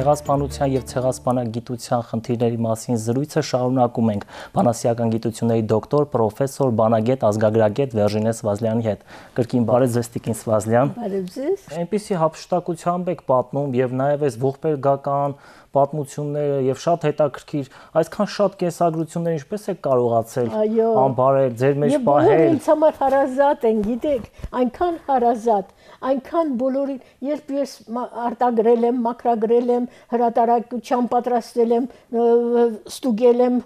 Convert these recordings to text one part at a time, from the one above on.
Ցեղասպանության եւ ցեղասպանագիտության խնդիրների մասին զրույցը շարունակում ենք բանասիական գիտությունների դոկտոր, պրոֆեսոր, բանագետ, ազգագրագետ Վերժինե Սվազլյանի հետ։ Կրկին բարև ձեզ Տիկին Սվազլյան։ Բարև ձեզ։ Այնպիսի հափշտակությամբ եք պատմում եւ նաեւ այս ողբերգական պատմությունները եւ շատ հետաքրքիր, այսքան շատ կենսագրություններ ինչպես եք կարողացել անբարել ձեր մեջ պահել։ Եվ ինձ համար հարազատ են, գիտեք, այնքան հարազատ, այնքան բոլորին, երբ ես արտագրել եմ, մաքրագրել եմ, հրատարակության պատրաստել եմ, ստուգել եմ,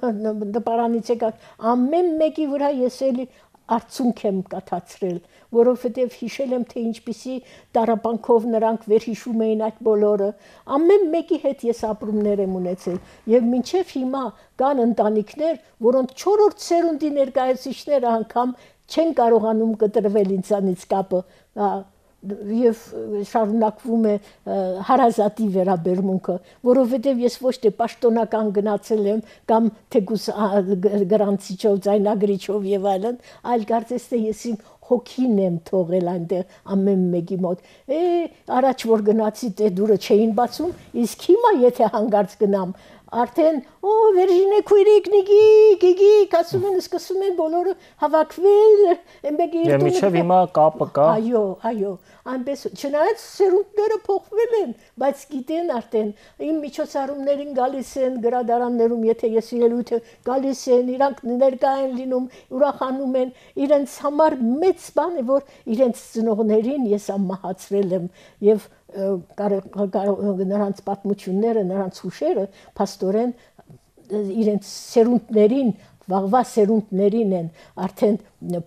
դպարանից եկած, ամեն մեկի վրա ես էլի արցունք եմ կաթացրել, որովհետև հիշել եմ, թե ինչպիսի տառապանքով նրանք վերհիշում էին այդ բոլորը, ամեն մեկի հետ ես ապրումներ եմ ունեցել, եւ մինչեւ հիմա կան ընտանիքներ, որոնց 4-րդ սերունդի ներկայացուցիչները անգամ չեն կարողանում կտրվել ինձանից կապը, եւ շարունակվում է հարազատի վերաբերմունքը, որովհետեւ ես ոչ թե պաշտոնական գնացել եմ կամ թեկուս գրանցիչով, ձայնագրիչով եւ այլն, այլ կարծես թե ես իմ հոգին եմ թողել այնտեղ ամեն մեկի մոտ։ Առաջ որ գնացի դե դուրը չէին բացում, իսկ հիմա եթե հանգարց գնամ, արդեն Վերժինե քույրիկ գիգիկ ասում են, սկսում են բոլորը հավաքվել, մեկի եւ միջև հիմա կապը կա։ Այո, այնպես չնայած սերունդները փոխվել են, բայց գիտեն արդեն իմ միջոցառումներին գալիս են, գրադարաններում եթե ես ելույթ գալիս են, իրանք ներկա են լինում, ուրախանում են, իրենց համար մեծ բան է, որ իրենց ծնողներին ես ամահացրել եմ եւ նրանց պատմությունները, նրանց հուշերը փաստորեն իրենց սերունդներին, վաղվա սերունդներին են արդեն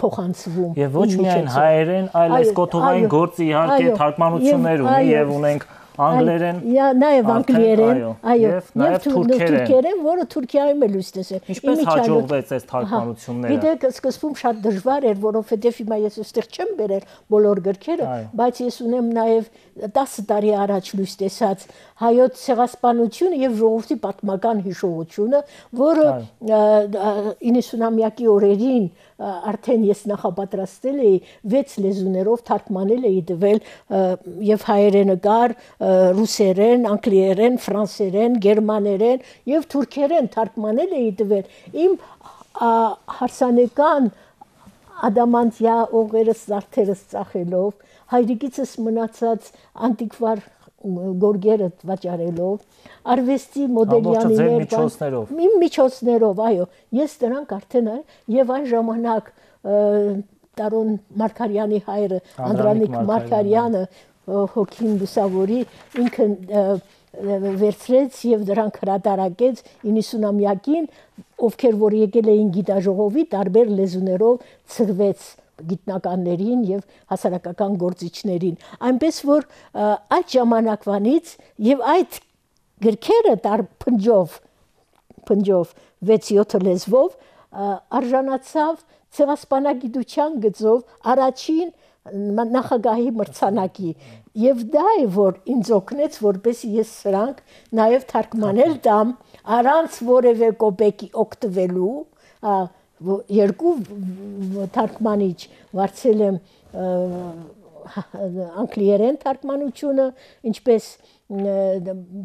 փոխանցվում։ Եվ ոչ միայն հայերեն, այլ այս կոթողային գործը իհարկե թարգմանություններ ունի եւ ունենք անգլերեն, նաեւ անգլերեն, եւ նաեւ թուրքերեն, որը Թուրքիայում է լույս տեսել։ Ինչպես հաջողվեց այս թարգմանությունները։ Գիտեք, սկզբում շատ դժվար էր, որովհետեւ հիմա ես այստեղ չեմ բերել բոլոր գրքերը, բայց ես ունեմ նաեւ 10 տարի առաջ լույս տեսած հայոց ցեղասպանությունը եւ ժողովրդի պատմական հիշողությունը, որը 90-ամյակի օրերին արդեն ես նախապատրաստել էի 6 լեզուներով թարգմանել էի տվել եւ հայերենը կար, ռուսերեն, անգլիերեն, ֆրանսերեն, գերմաներեն եւ թուրքերեն թարգմանել էի տվել իմ հարսանեկան ադամանդյա օղերս զարդերս ծախելով, հայրիկիցս մնացած անտիկվար գորգերը վաճառելով, արվեստի մոդելյանիներ, իմ միջոցներով, այո, ես դրանք արդեն եւ այն ժամանակ Տարոն Մարգարյանի հայրը, Անդրանիկ Մարգարյանը, հոգին լուսավորի, ինքը վերցրեց եւ դրանք հրատարակեց 90-ամյակին, ովքեր որ եկել էին գիտաժողովի, տարբեր լեզուներով ցրվեց գիտնականներին եւ հասարակական գործիչներին, այնպես որ այդ ժամանակվանից եւ այդ գրքերը փնջով 6-7 լեզվով արժանացավ ցեղասպանագիտության գծով առաջին նախագահի մրցանակի եւ դա է որ ինձ օգնեց որպեսզի ես սրանք նաեւ թարգմանել տամ առանց որևէ կոպեկի օգտվելու երկու թարգմանիչ վարձել եմ անգլիերեն թարգմանությունը, ինչպես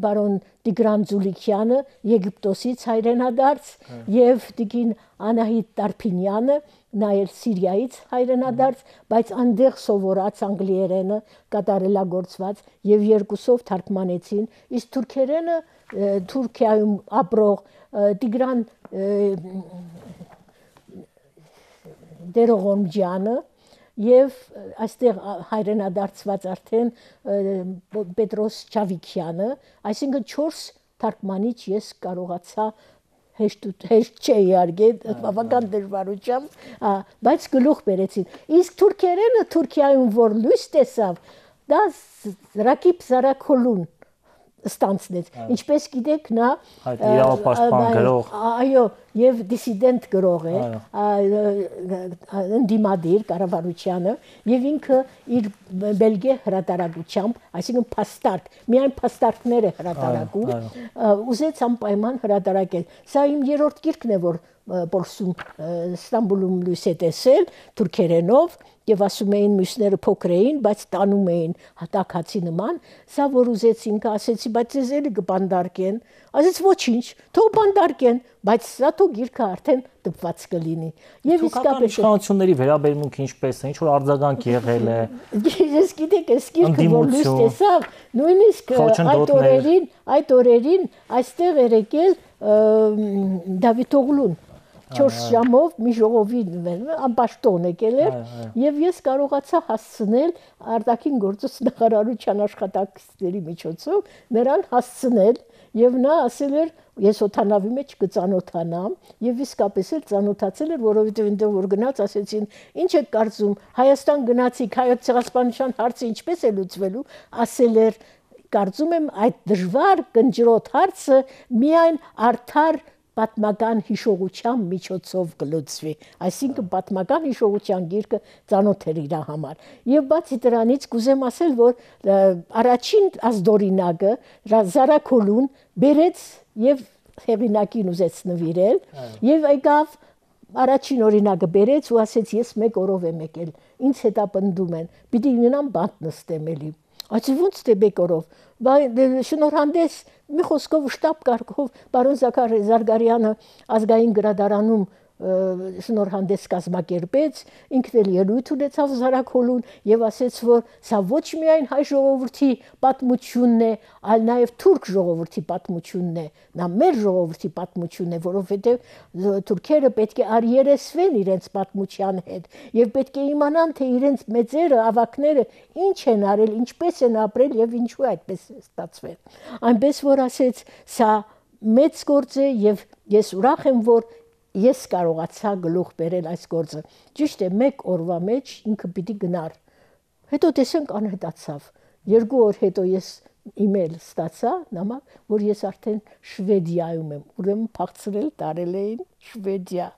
բարոն Տիգրան Ձուլիկյանը Եգիպտոսից հայրենադարձ եւ Տիկին Անահիտ Տարփինյանը նայել Սիրիայից հայրենադարձ, բայց այնտեղ սովորած անգլիերենը կատարելագործված եւ երկուսով թարգմանեցին, իսկ թուրքերենը Թուրքիայում ապրող Տիգրան Դերողոմջյանը եւ այստեղ հայրենադարձված արդեն Պետրոս Չավիկյանը, այսինքն 4 թարգմանիչ ես կարողացա հեշտ չէ իհարկե, բավական դժվարությամբ, բայց գլուխ բերեցին։ Իսկ թուրքերենը Թուրքիայում որ լույս տեսավ, դա Ռակիբ Զարաքոլուն ստանցնեց։ Ինչպես գիտեք, նա իրավապաշտպան գրող, այո, եւ դիսիդենտ գրող է, ընդդիմադիր կառավարությանը եւ ինքը իր Բելգիա հրատարակությամբ, այսինքն փաստարկ, միայն փաստարկները հրատարակում, ուզեց անպայման հրատարակել։ Սա իմ երրորդ գիրքն է, որ Պոլսում Ստամբուլում լույս է տեսել թուրքերենով եւ ասում էին մյուսները փոքր էին, բայց տանում էին հատակացի նման, սա որ ուզեցինք, ասեցի, բայց ձեզ էլի կբանդարկեն, ասեց ոչինչ, թող բանդարկեն, բայց սա թող գիրքը արդեն տպված կլինի։ Եվ իսկապես իշխանությունների վերաբերմունքը ինչպես է, ինչ որ արձագանք եղել է։ Ես գիտեք, այս գիրքը որ լույս տեսավ, նույնիսկ այդ օրերին այստեղ էր եկել Դավիթ Օղլուն 4 ժամով մի ժողովի անպաշտոն եկել էր եւ ես կարողացա հասցնել արտաքին գործոց նախարարության աշխատակիցների միջոցով նրան հասցնել եւ նա ասել էր ես օթանավի մեջ կծանոթանամ եւ իսկապես էլ ծանոթացել էր որովհետեւ այնտեղ որ գնաց ասեցին ինչ եք կարծում Հայաստան գնացիք հայոց ցեղասպանության հարցը ինչպես է լուծվելու ասել էր կարծում եմ այդ դժվար կնճռոտ հարցը միայն արդար պատմական հիշողության միջոցով կլուծվի, այսինքն պատմական հիշողության գիրքը ծանոթ էր իր համար։ Եվ բացի դրանից կուզեմ ասել, որ առաջին ազդորինակը Զարաքոլուն բերեց եւ հեղինակին ուզեց նվիրել եւ եկավ առաջին օրինակը բերեց ու ասեց ես մեկ օրով եմ եկել, ինձ հետապնդում են, պիտի ունենամ բանտ նստեմ էլի։ Այս ոնց թե բեկորով, շնորհանդես մի խոսքով շտաբ կարգով պարոն Զարգարյանը ազգային գրադարանում շնորհանդես կազմակերպեց, ինքն էլ ելույթ ունեցավ Զարաքոլուն եւ ասեց, որ սա ոչ միայն հայ ժողովրդի պատմությունն է, այլ նաեւ թուրք ժողովրդի պատմությունն է, նա մեր ժողովրդի պատմությունն է, որովհետեւ թուրքերը պետք է արիերեսվեն իրենց պատմության հետ եւ պետք է իմանան, թե իրենց մեծերը, ավակները ինչ են արել, ինչպես են ապրել եւ ինչու այդպես է ստացվել։ Այնպես որ ասեց, սա մեծ գործ է եւ ես ուրախ եմ, որ ես կարողացա գլուխ բերել այս գործը։ Ճիշտ է, մեկ օրվա մեջ ինքը պիտի գնար։ Հետո տեսանք անհետացավ։ 2 օր հետո ես իմեյլ ստացա, նամակ, որ ես արդեն Շվեդիայում եմ։ Ուրեմն փախցրել տարել էին Շվեդիա։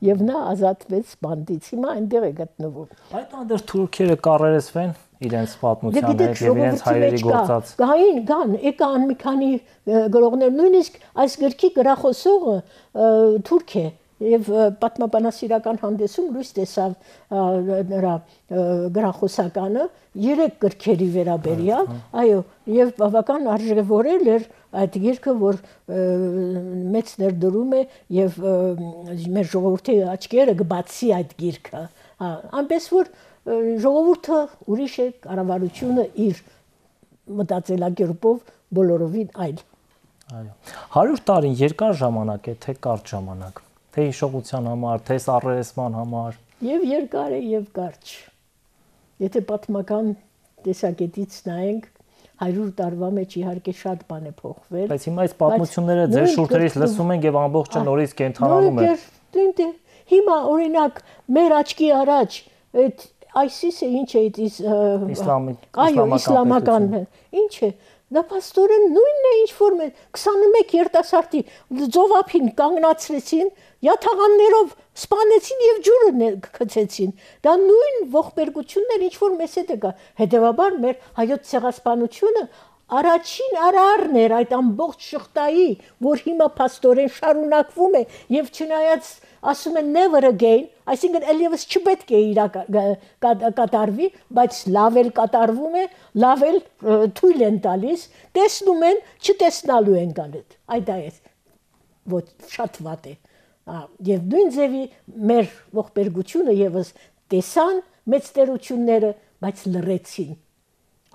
Եւ նա ազատվեց բանդից։ Հիմա այնտեղ է գտնվում։ Այդտեղ թուրքերը կառերեսվեն իրենց պատմության հետ եւ իրենց հայրերի գործած։ Գան, եկան մի քանի գրողներ, նույնիսկ այս գրքի գրախոսողը թուրք է։ Եվ պատմաբանասիրական հանդեսում լույս տեսավ նրա գրախոսականը 3 գրքերի վերաբերյալ, այո, եւ բավական արժևորել էր այդ գիրքը, որ մեծ ներդրում է եւ մեր ժողովրդի աչքերը կբացի այդ գիրքը, այնպես որ ժողովուրդը ուրիշ է, կառավարությունը իր մտածելակերպով բոլորովին այլ։ Այո, 100 տարին երկար ժամանակ է, թե կարճ ժամանակ։ Թե հիշողության համար, թե առերեսման համար։ Եվ երկար է, եւ կարճ։ Եթե պատմական տեսակետից նայենք, 100 տարվա մեջ իհարկե շատ բան է փոխվել։ Բայց հիմա այս պատմությունները ձեր շուրթերից լսում ենք եւ ամբողջը նորից կենթանանում է։ Հիմա օրինակ մեր աչքի առաջ այդ ISIS-ը ինչ է իսլամական, ինչ է։ Դա պաստորեն նույնն է ինչ որ 21 երիտասարդի ծովափին կանգնացրեցին, յաթաղաններով սպանեցին եւ ջուրը գցեցին։ Դա նույն ողբերգությունն էր ինչ որ մեզ հետ եկա։ Հետևաբար մեր հայոց ցեղասպանությունը առաջին արարն էր այդ ամբողջ շղթայի, որ հիմա պաստորեն շարունակվում է եւ չնայած ասում են never again, այսինքն ելևս չպետք է կատարվի, բայց լավ էլ կատարվում է, լավ էլ թույլ են տալիս, տեսնում են, չտեսնալու են գալու։ Այդ է, ոչ շատ վատ է։ Եվ նույն ձևի մեր ողբերգությունը եւս տեսան մեծ տերությունները, բայց լռեցին։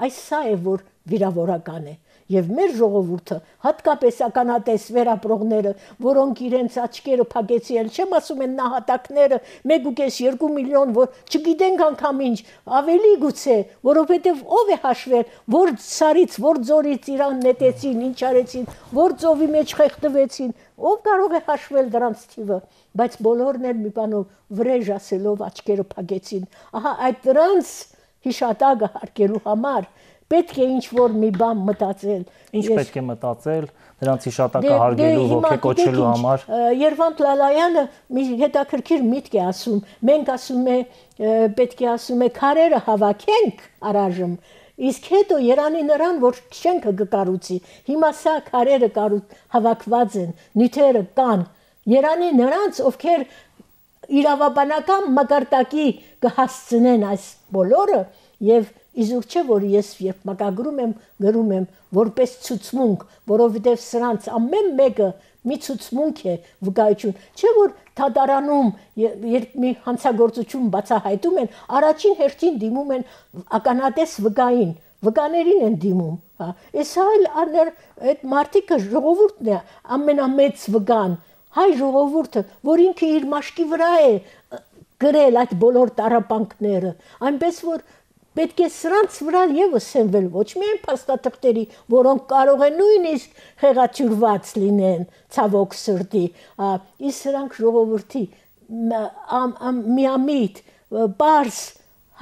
Այս սա է, որ վիրավորական է։ Եվ մեր ժողովուրդը, հատկապես ականատես վերապրողները, որոնք իրենց աչքերը փակեցին, չեմ ասում են նահատակները 1.5-2 միլիոն, որ չգիտենք անգամ ինչ, ավելի գուցե, որովհետև ով է հաշվել, որ սարից, որ ձորից իրան նետեցին, ինչ արեցին, որ ծովի մեջ խեղդվեցին, ով կարող է հաշվել դրանց թիվը, բայց բոլորն էլ մի բանով վրեժ ասելով աչքերը փակեցին։ Ահա այդ դրանց հիշատակը հարգելու համար պետք է ինչ-որ մի բան մտածել։ Ինչ պետք է մտածել դրանց հիշատակը հարգելու, ոգեկոչելու համար։ Երվանդ Լալայանը մի հետաքրքիր միտք է ասում։ Մենք ասում է պետք է ասում է քարերը հավաքենք առայժմ, իսկ հետո Երանի նրան, որ շենքը կկառուցի։ Հիմա սա քարերը հավաքված են, նյութերը կան։ Երանի նրանց, ովքեր իրավաբանական մակարդակի կհասցնեն այս բոլորը եւ իզուր չէ որ ես երբ մակագրում եմ գրում եմ որպես ցուցմունք, որովհետեւ սրանց ամեն մեկը մի ցուցմունք է վկայություն, չէ որ թադարանում երբ մի հանցագործություն բացահայտում են, առաջին հերթին դիմում են ականատես վկային, վկաներին են դիմում, հա։ Այս այլ այդ մարդիկը ժողովուրդն է ամենամեծ վկան, հայ ժողովուրդը, որ ինքը իր մաշկի վրա է գրել այդ բոլոր տառապանքները, այնպես որ պետք է սրանց վրա եւս սենվել ոչ միայն փաստաթղթերի, որոնք կարող են նույնիսկ խեղաթյուրված լինեն, ցավոք սրտի, իսկ սրանք ժողովրդի միամիտ, բարձ,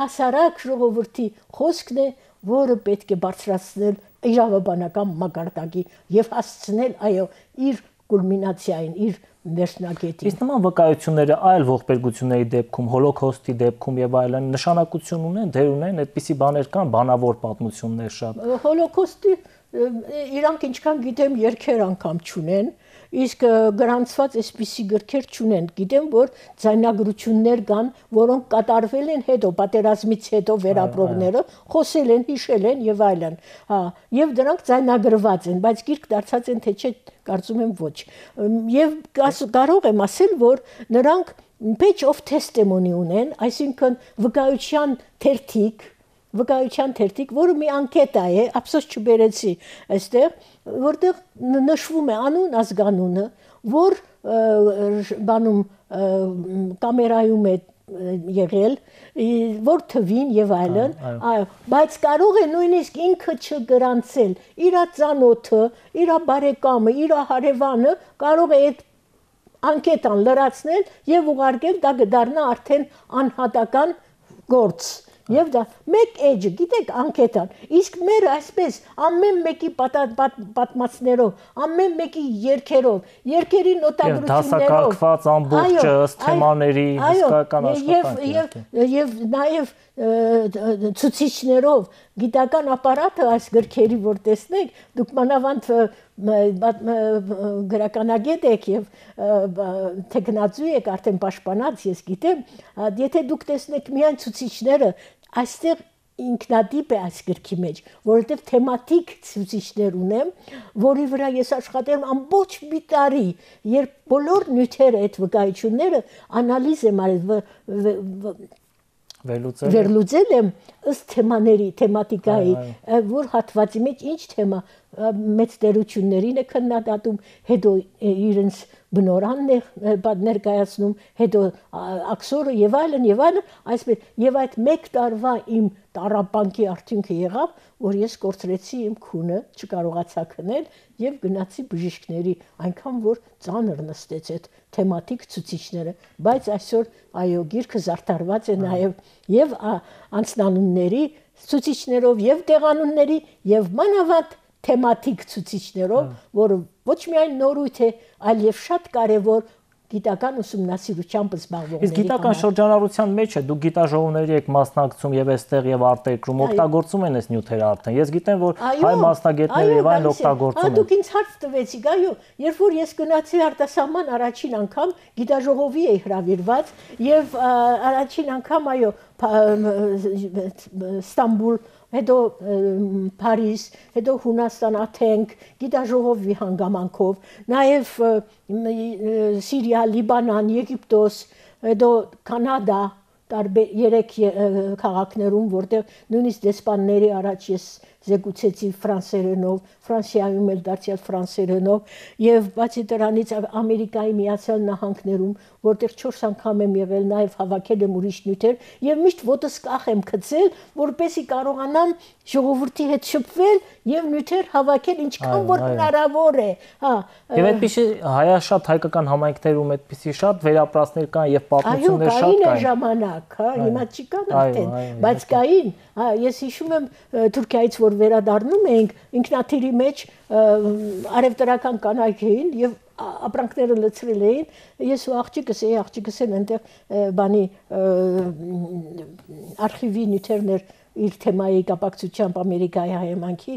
հասարակ ժողովրդի խոսքն է, որը պետք է բարձրացնել իրավաբանական մակարդակի եւ հասցնել, այո, իր կուլմինացիային, իր վերջնագետին։ Իսկ նման վկայությունները այլ ողբերգությունների դեպքում, հոլոկոստի դեպքում եւ այլն նշանակություն ունեն, դեր ունեն, այդպիսի բաներ կան, բանավոր պատմություններ շատ։ Հոլոկոստի իրանք ինչքան գիտեմ երկեր անգամ չունեն, իսկ գրանցված այսպիսի գրքեր չունեն։ Գիտեմ, որ ձայնագրություններ կան, որոնք կատարվել են հետո, պատերազմից հետո վերապրողները, խոսել են, հիշել են եւ այլն։ Հա, եւ դրանք ձայնագրված են, բայց գիրք դարձած են թե չէ, կարծում եմ ոչ։ Եվ կարող եմ ասել, որ նրանք page of testimony ունեն, այսինքն վկայության թերթիկ, որը մի անկետա է, ափսոս չբերեցի այստեղ, որտեղ նշվում է անուն, ազգանունը, որ բանում կամերայում է եղել, որ թվին եւ այլն, բայց կարող է նույնիսկ ինքը չգրանցել, իր ծանոթը, իր բարեկամը, իր հարևանը կարող է այդ անկետան լրացնել եւ ուղարկել, դա կդառնա արդեն անհատական գործ։ Եվ դա մեկ էջը, գիտեք, անկետան, իսկ մեր այսպես ամեն մեկի պատմածներով, ամեն մեկի երգերով, երկերի նոտագրություններով, դասակարգված ամբողջը ըստ թեմաների հսկայական աշխատանք եւ նաեւ ցուցիչներով, գիտական ապարատը այս գրքերի որ տեսնեք, դուք մանավանդ գրականագետ եք եւ տեխնացու եք, արդեն պաշտպանած, ես գիտեմ, եթե դուք տեսնեք միայն ցուցիչները, այստեղ ինքնատիպ է այս գրքի մեջ, որովհետև թեմատիկ ցուցիչներ ունեմ, որի վրա ես աշխատել եմ ամբողջ մի տարի, երբ բոլոր նյութերը, այդ վկայությունները անալիզ եմ արել, վերլուծել եմ ըստ թեմաների, թեմատիկայի, որ հատվածի մեջ ինչ թեմա մեծ տերություններին է քննադատում, հետո իրենց բնորանն է ներկայացնում, հետո աքսորը եւ այլն, այսպես եւ այդ մեկ տարվա իմ տառապանքի արդյունքը եղավ, որ ես կորցրեցի իմ քունը, չկարողացա քնել եւ գնացի բժիշկների, այնքան որ ծանր նստեց այդ թեմատիկ ցուցիչները, բայց այսօր այո, գիրքը զարդարված է նաեւ անձնանունների ցուցիչներով եւ տեղանունների եւ մանավանդ թեմատիկ ցուցիչներով, որը ոչ միայն նորույթ է, այլ եւ շատ կարեւոր գիտական ուսումնասիրությամբ զբաղվողների։ Իսկ գիտական շրջանառության մեջ է, դուք գիտաժողովների եք մասնակցում եւ այստեղ եւ արտերկրում օգտագործում են այս նյութերը արդեն։ Ես գիտեմ, որ հայ մասնագետները եւ այլն օգտագործում են։ Դուք ինձ հարց տվեցիք, այո, երբ որ ես գնացի արտասահման առաջին անգամ գիտաժողովի էի հրավիրված եւ առաջին անգամ այո Ստամբուլ, հետո Փարիզ, հետո Հունաստան, Աթենք, գիտաժողովի հանգամանքով, նաև Սիրիա, Լիբանան, Եգիպտոս, հետո Կանադա, տարբեր 3 քաղաքներում, որտեղ նույնիսկ դեսպանների առաջ ես զեկուցեցի ֆրանսերենով, Ֆրանսիայում էլ դարձյալ ֆրանսերենով, եւ բացի դրանից Ամերիկայի Միացյալ Նահանգներում, որտեղ 4 անգամ եմ եղել, նաև հավաքել եմ ուրիշ նյութեր եւ միշտ ոտս կախ եմ գցել, որպեսզի կարողանամ ժողովրդի հետ շփվել եւ նյութեր հավաքել ինչքան որ հնարավոր է, հա։ Եվ այդպիսի հայաշատ հայկական համայնքներում այդպիսի շատ վերապրածներ կան եւ պատմություններ շատ կային։ Այո, կային ժամանակ, հա, հիմա չի կան արդեն, բայց կային, հա, ես հիշում եմ Թուրքիայից որ վերադառնում էինք, ինքնաթիռի մեջ արևտրական կանայք էին եւ ապրանքները լցրել էին, ես ու աղջիկս են այնտեղ բանի արխիվի նյութերներ իր թեմայի կապակցությամբ Ամերիկայի հայեմանքի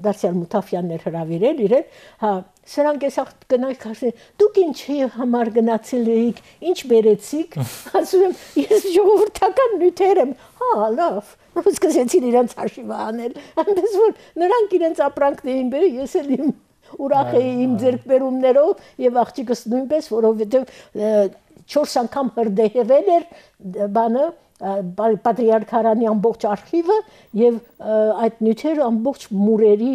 Դարսյալ Մութաֆյանն էր հրավիրել իրեն, հա, սրանք էս կանայք ասեն, դուք ինչի համար գնացել էիք, ինչ բերեցիք, ասում եմ, ես ժողովրդական նյութեր եմ, հա, լավ, սկսեցին իրենց հաշիվը անել, այնպես որ նրանք իրենց ապրանքն էին բերել, ես էլ իմ ուրախ էի իմ ձեռքբերումներով եւ աղջիկս նույնպես, որովհետեւ 4 անգամ հրդեհվել էր բանը Պատրիարքարանի ամբողջ արխիվը եւ այդ նյութերը ամբողջ մուրերի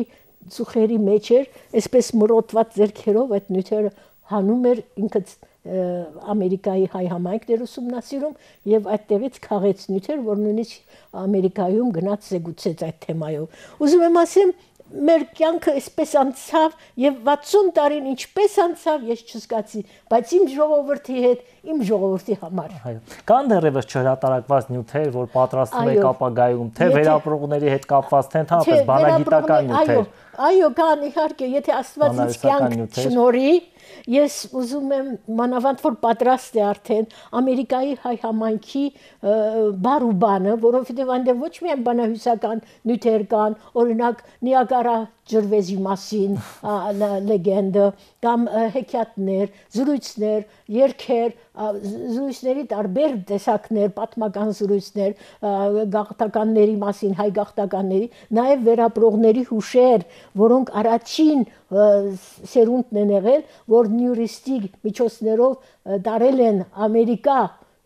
ծուխերի մեջ էր, այսպես մրոտված ձեռքերով այդ նյութերը հանում էր ինքը Ամերիկայի հայ համայնքներ ուսումնասիրում եւ այդտեղից քաղեց նյութեր, որ նույնիսկ Ամերիկայում գնաց զեկուցեց այդ թեմայով։ Ուզում եմ ասեմ, մեր կյանքը այսպես անցավ եւ 60 տարին ինչպես անցավ ես չզգացի, բայց իմ ժողովրդի հետ, իմ ժողովրդի համար։ Այո։ Կան դեռևս չհրատարակված նյութեր, որ պատրաստում եք ապագայում, թե վերապրողների հետ կապված, թե ընդհանրապես բանագիտական նյութեր։ Այո, կան իհարկե, եթե Աստված ինձ կյանք շնորհի, ես ուզում եմ մանավանդ որ պատրաստ է արդեն Ամերիկայի հայ համայնքի բար ու բանը, որովհետև այնտեղ ոչ միայն բանահյուսական նյութեր կան, օրինակ Նիագարա ջրվեզի մասին լեգենդը, կամ հեքիաթներ, զրույցներ, երգեր, զրույցների տարբեր տեսակներ, պատմական զրույցներ, գաղթականների մասին, հայ գաղթականների, նաև վերապրողների հուշեր, որոնք առաջին սերունդն են եղել, որ նյուրիստիկ միջոցներով տարել են Ամերիկա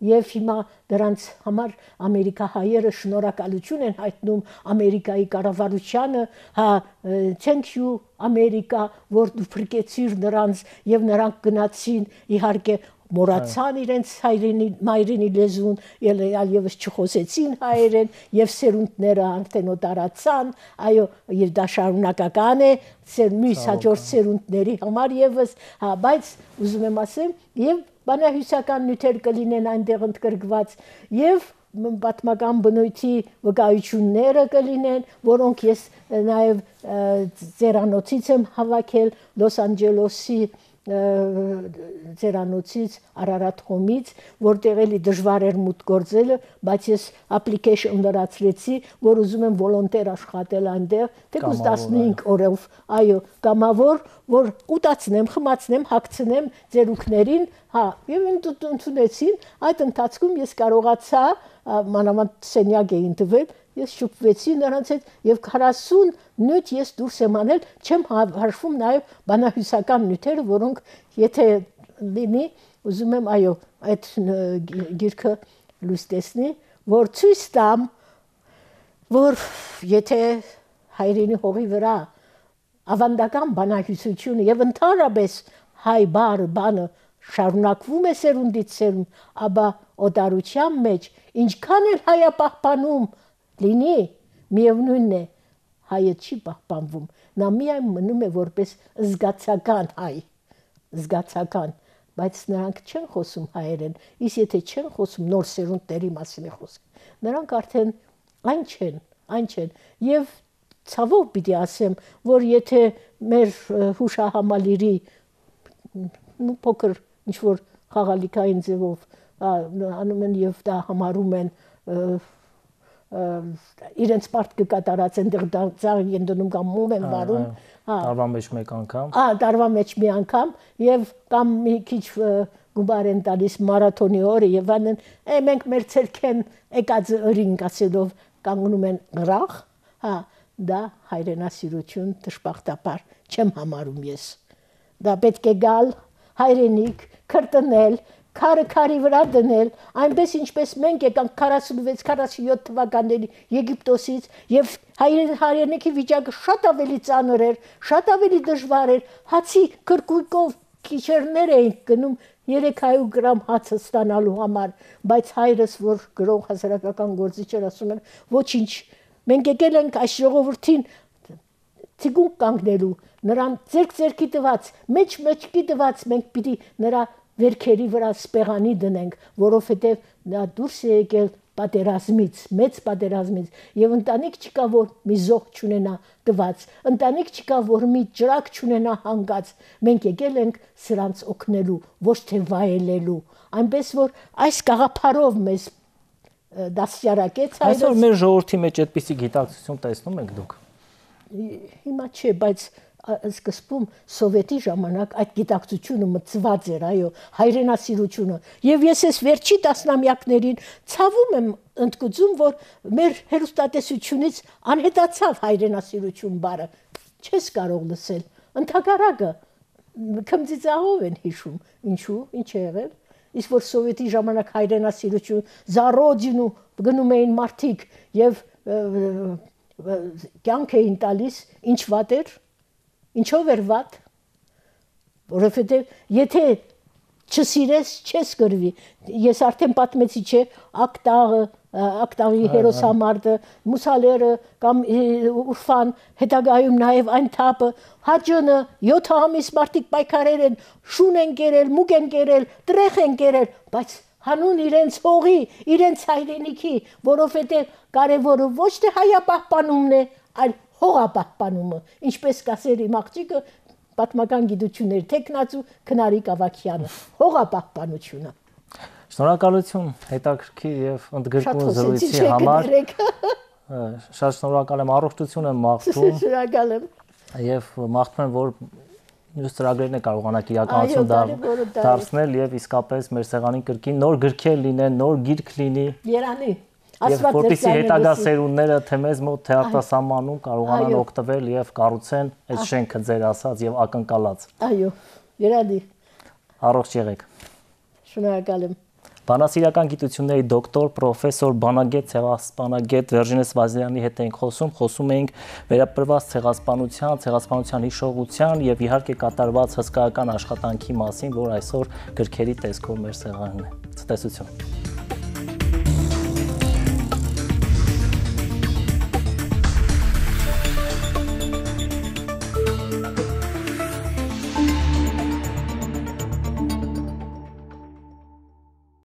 եւ հիմա դրանց համար ամերիկահայերը շնորհակալություն են հայտնում Ամերիկայի կառավարությանը, հա, thank you Ամերիկա, որ դու փրկեցիր նրանց եւ նրանք գնացին, իհարկե մոռացան իրենց մայրենի լեզուն, այլևս չխոսեցին հայերեն եւ սերունդները արդեն օտարացան, այո, եւ դա շարունակական է մյուս հաջորդ սերունդների համար եւս, հա, բայց ուզում եմ ասեմ, եւ բանահյուսական նյութեր կլինեն այնտեղ ընդգրկված եւ պատմական բնույթի վկայությունները կլինեն, որոնք ես նաեւ ձերանոցից եմ հավաքել Լոս Անջելեսի ձերանոցից Արարատ խոմից, որտեղ էլի դժվար էր մուտք գործելը, բայց ես application լրացրեցի, որ ուզում եմ վոլոնտեր աշխատել այնտեղ, թեկուզ 15 օրով, այո, կամավոր, որ ուտացնեմ, խմացնեմ, հագցնեմ ձերուկներին, հա, եւ ընդունեցին, այդ ընթացքում ես կարողացա մանավանդ սենյակ էին տվել, ես շփվեցի նրանց հետ եւ 40 նյութ ես դուրս եմ անել, չեմ հաշվում նաեւ բանահյուսական նյութերը, որոնք եթե լինի, ուզում եմ այո, այդ գիրքը լույս տեսնի, որ ցույց տամ, որ եթե հայրենի հողի վրա ավանդական բանահյուսությունը եւ ընդհանրապես հայ բանը շարունակվում է սերունդից սերունդ, ապա օտարության մեջ ինչքան էլ հայապահպանում լինի, միևնույնն է, հայը չի պահպանվում, նա միայն մնում է որպես զգացական հայ, զգացական, բայց նրանք չեն խոսում հայերեն, իսկ եթե չեն խոսում, նոր սերունդների մասին է խոսքը, նրանք արդեն այն չեն, եւ ցավով պիտի ասեմ, որ եթե մեր հուշահամալիրի փոքր ինչ-որ խաղալիքային ձևով անում են եւ դա համարում են իրենց պարտքը կատարած են դարձան են դնում կամ մոմ են վարում, տարվա մեջ մեկ անգամ, տարվա մեջ մի անգամ եւ կամ մի քիչ գումար են տալիս մարաթոնի օրը եւ անեն, մենք մեր ցերքեն եկած ըրինք ասելով կանգնում են գրախ, հա, դա հայրենասիրություն դժբախտաբար չեմ համարում ես, դա պետք է գալ հայրենիք, քրտնել, քարի վրա դնել, այնպես ինչպես մենք եկանք 46-47 թվականների Եգիպտոսից եւ հայրենիքի վիճակը շատ ավելի ծանր էր, շատ ավելի դժվար էր, հացի քրկույկով քիչերներ էին գնում 300 գրամ հացը ստանալու համար, բայց հայրս, որ գրող հասարակական գործիչ էր, ասում էր, ոչինչ, մենք եկել ենք այս ժողովրդին թիկունք կանգնելու, նրան ձերքի տված, մեջքի տված մենք պիտի նրա վերքերի վրա սպեղանի դնենք, որովհետև նա դուրս է եկել պատերազմից, մեծ պատերազմից, եւ ընտանիք չկա, որ մի զոհ չունենա տված, ընտանիք չկա, որ մի ջրակ չունենա հանգած, մենք եկել ենք սրանց օգնելու, ոչ թե վայելելու, այնպես որ այս գաղափարով մեզ դասյարակեց հայրս։ Այսօր մեր ժողովրդի մեջ այդպիսի գիտակցություն տեսնում եք դուք։ Հիմա չէ, բայց սկզբում սովետի ժամանակ այդ գիտակցությունը մտցված էր, այո, հայրենասիրությունը, եւ ես այս վերջի տասնամյակներին ցավում եմ ընդգծում, որ մեր հերոստատեսությունից անհետացավ հայրենասիրություն բառը, չես կարող լսել, ընդհակառակը քմծիծաղով են հիշում, ինչու, ինչ է եղել, իսկ որ սովետի ժամանակ հայրենասիրություն, за родину գնում էին մարդիկ եւ կյանք էին տալիս, ինչ վատ էր, ինչով էր վատ, որովհետև եթե չսիրես, չես գրվի, ես արդեն պատմեցի, չէ, ակտաղի հերոսամարտը, մուսալերը կամ Ուրֆան, հետագայում նաև այն թափը, հաջոնը 7 ամիս մարդիկ պայքարել են, շուն են կերել, մուկ են կերել, տրեխ են կերել, բայց հանուն իրենց հողի, իրենց հայրենիքի, որովհետև կարևորը ոչ թե հայապահպանումն է, այլ հողապահպանումը, ինչպես կասեր իմ աղջիկը պատմական գիտությունների տեխնացու Քնարիկ Ավագյանը, հողապահպանությունը։ Շնորհակալություն հետաքրքիր եւ ընդգրկուն զրույցի համար։ Շատ շնորհակալ եմ, առողջություն եմ մաղթում։ Շնորհակալ եմ։ Եվ մաղթում եմ, որ մյուս ծրագրերն է կարողանաք իրականություն դարձնել եւ իսկապես մեր սեղանին կրկին նոր գրքեր լինեն, նոր գիրք լինի։ Երանի։ Եվ որպեսզի հետագա սերունդները թե մեզ մոտ թե արտասահմանում կարողանան օգտվել եւ կառուցեն այդ շենքը ձեր ասած եւ ակնկալած։ Այո, երանի։ Առողջ եղեք։ Շնորհակալ եմ։ Բանասիրական գիտությունների դոկտոր, պրոֆեսոր, բանագետ, ցեղասպանագետ Վերժինես Վազլյանի հետ ենք խոսում էինք վերապրված ցեղասպանության հիշողության եւ իհարկե կատարված հսկայական աշխատանքի մասին, որ այսօր գրքերի տեսքով մեր սեղանն է։ Ցտեսություն։